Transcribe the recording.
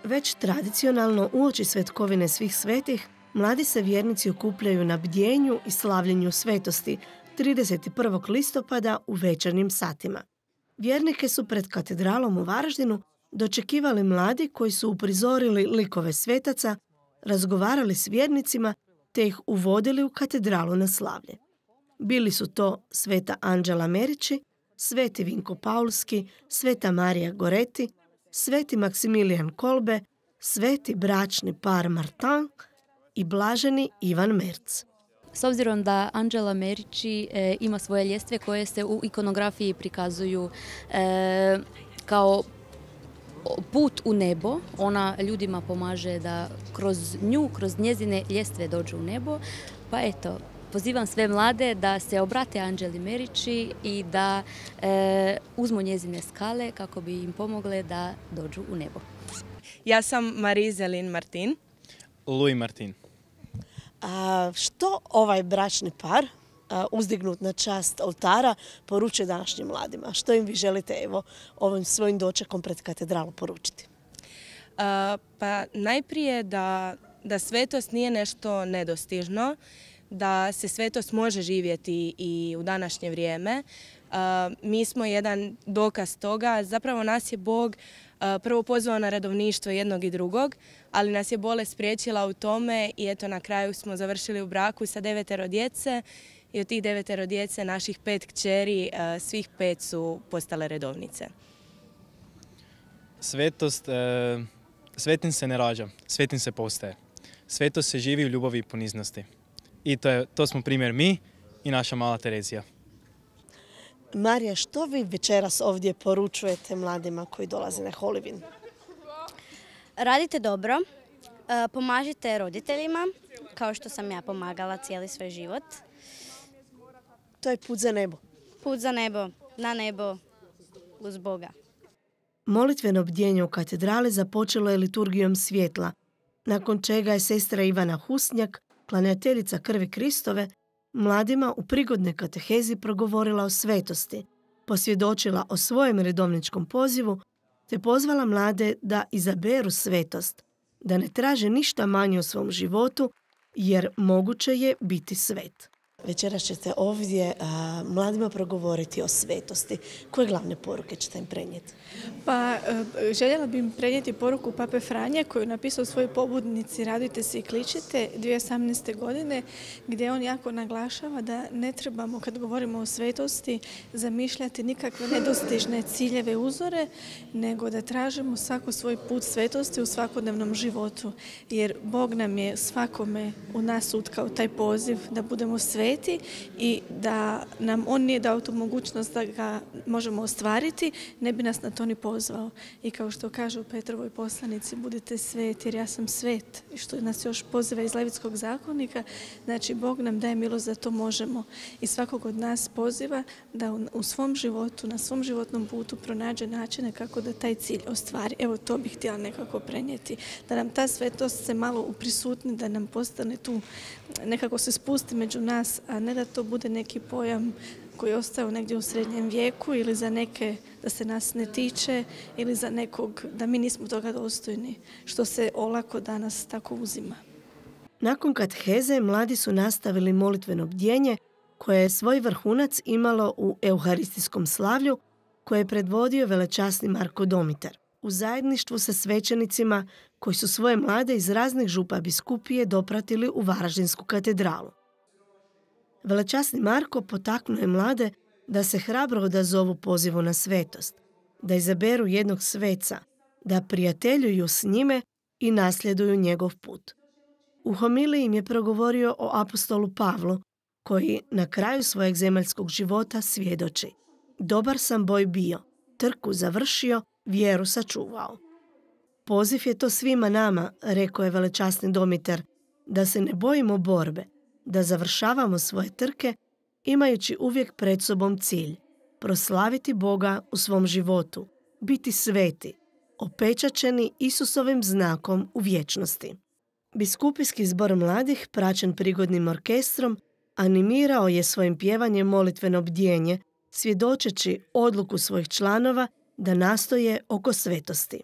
Već tradicionalno uoči svetkovine svih svetih, mladi se vjernici okupljaju na bdjenju i slavljenju svetosti 31. listopada u večernjim satima. Vjernike su pred katedralom u Varaždinu dočekivali mladi koji su uprizorili likove svetaca, razgovarali s vjernicima te ih uvodili u katedralu na slavlje. Bili su to sveta Anđela Merići, sveti Vinko Paulski, sveta Marija Goreti, sveti Maksimilijan Kolbe, sveti bračni par Martin i blaženi Ivan Merc. S obzirom da Anđela Merići ima svoje ljestve koje se u ikonografiji prikazuju kao put u nebo, ona ljudima pomaže da kroz nju, kroz njezine ljestve dođu u nebo, pa eto, pozivam sve mlade da se obrate Anđeli Merići i da uzmu njezine skale kako bi im pomogle da dođu u nebo. Ja sam Marizelin Martin. Louis Martin. Što ovaj bračni par uzdignut na čast oltara poručuje današnjim mladima? Što im vi želite ovim svojim dočekom pred katedralu poručiti? Pa najprije da svetost nije nešto nedostižno, da se svetost može živjeti i u današnje vrijeme. Mi smo jedan dokaz toga. Zapravo nas je Bog prvo pozvao na redovništvo jednog i drugog, ali nas je bolest spriječila u tome i eto na kraju smo završili u braku sa 9 djece i od tih 9 djece naših 5 kćeri, svih 5 su postale redovnice. Svetost, svetim se ne rađa, svetim se postaje. Svetost se živi u ljubavi i poniznosti. I to smo primjer mi i naša mala Terezija. Marija, što vi večeras ovdje poručujete mladima koji dolaze na Holivin? Radite dobro, pomažite roditeljima, kao što sam ja pomagala cijeli svoj život. To je put za nebo. Put za nebo, na nebo, uz Boga. Molitveno bdjenje u katedrali započelo je liturgijom svjetla, nakon čega je sestra Ivana Husnjak, klanjateljica krvi Kristove, mladima u prigodnoj katehezi progovorila o svetosti, posvjedočila o svojem redovničkom pozivu te pozvala mlade da izaberu svetost, da ne traže ništa manje u svom životu jer moguće je biti svet. Večeras ćete ovdje mladima progovoriti o svetosti. Koje glavne poruke ćete im prenijeti? Pa željela bih im prenijeti poruku Pape Franje koju je napisao u svojoj pobudnici Radujte se i kličite 2018. godine, gdje on jako naglašava da ne trebamo, kad govorimo o svetosti, zamišljati nikakve nedostižne ciljeve, uzore, nego da tražimo svako svoj put svetosti u svakodnevnom životu. Jer Bog nam je svakome u nas utkao taj poziv da budemo sveti i da nam on nije dao tu mogućnost da ga možemo ostvariti, ne bi nas na to ni pozvao. I kao što kaže u Petrovoj poslanici, budite sveti jer ja sam svet, i što nas još poziva iz Levitskog zakonika, znači Bog nam daje milost da to možemo i svakog od nas poziva da u svom životu, na svom životnom putu pronađe načine kako da taj cilj ostvari. Evo to bih htjela nekako prenijeti, da nam ta svetost se malo uprisutni, da nam postane tu, nekako se spusti među nas, a ne da to bude neki pojam koji je ostao negdje u srednjem vijeku ili za neke da se nas ne tiče ili za nekog da mi nismo toga dostojni, što se olako danas tako uzima. Nakon kateheze mladi su nastavili molitveno bdjenje koje je svoj vrhunac imalo u euharistijskom slavlju koje je predvodio velečasni Marko Domitar u zajedništvu sa svećenicima koji su svoje mlade iz raznih župa biskupije dopratili u Varaždinsku katedralu. Velečasni Marko potaknuo je mlade da se hrabro odazovu pozivu na svetost, da izaberu jednog sveca, da prijateljuju s njime i nasljeduju njegov put. U homiliji im je progovorio o apostolu Pavlu, koji na kraju svojeg zemaljskog života svjedoči: dobar sam boj bio, trku završio, vjeru sačuvao. Poziv je to svima nama, rekao je velečasni Domitar, da se ne bojimo borbe, da završavamo svoje trke imajući uvijek pred sobom cilj, proslaviti Boga u svom životu, biti sveti, opečačeni Isusovim znakom u vječnosti. Biskupijski zbor mladih, praćen prigodnim orkestrom, animirao je svojim pjevanjem molitveno bdjenje, svjedočeći odluku svojih članova da nastoje oko svetosti.